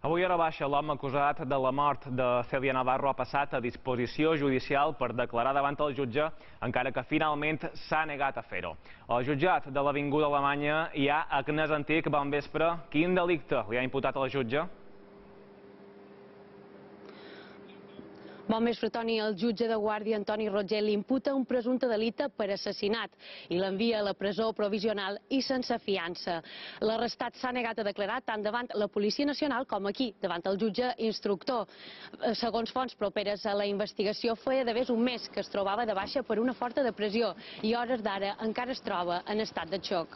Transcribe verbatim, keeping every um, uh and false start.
Avui a la baixa, l'home acusat de la mort de Cèlia Navarro ha passat a disposició judicial per declarar davant el jutge, encara que finalment s'ha negat a fer-ho. Al jutjat de l'Avinguda Alemanya hi ha Agnès Antic. Bon vespre. Quin delicte li ha imputat al jutge? Bon vespre, Toni. El jutge de guàrdia, Antoni Roger, li imputa un presumpte delicte per assassinat i l'envia a la presó provisional i sense fiança. L'arrestat s'ha negat a declarar tant davant la Policia Nacional com aquí, davant el jutge instructor. Segons fonts properes a la investigació, feia d'haver un mes que es trobava de baixa per una forta depressió i a hores d'ara encara es troba en estat de xoc.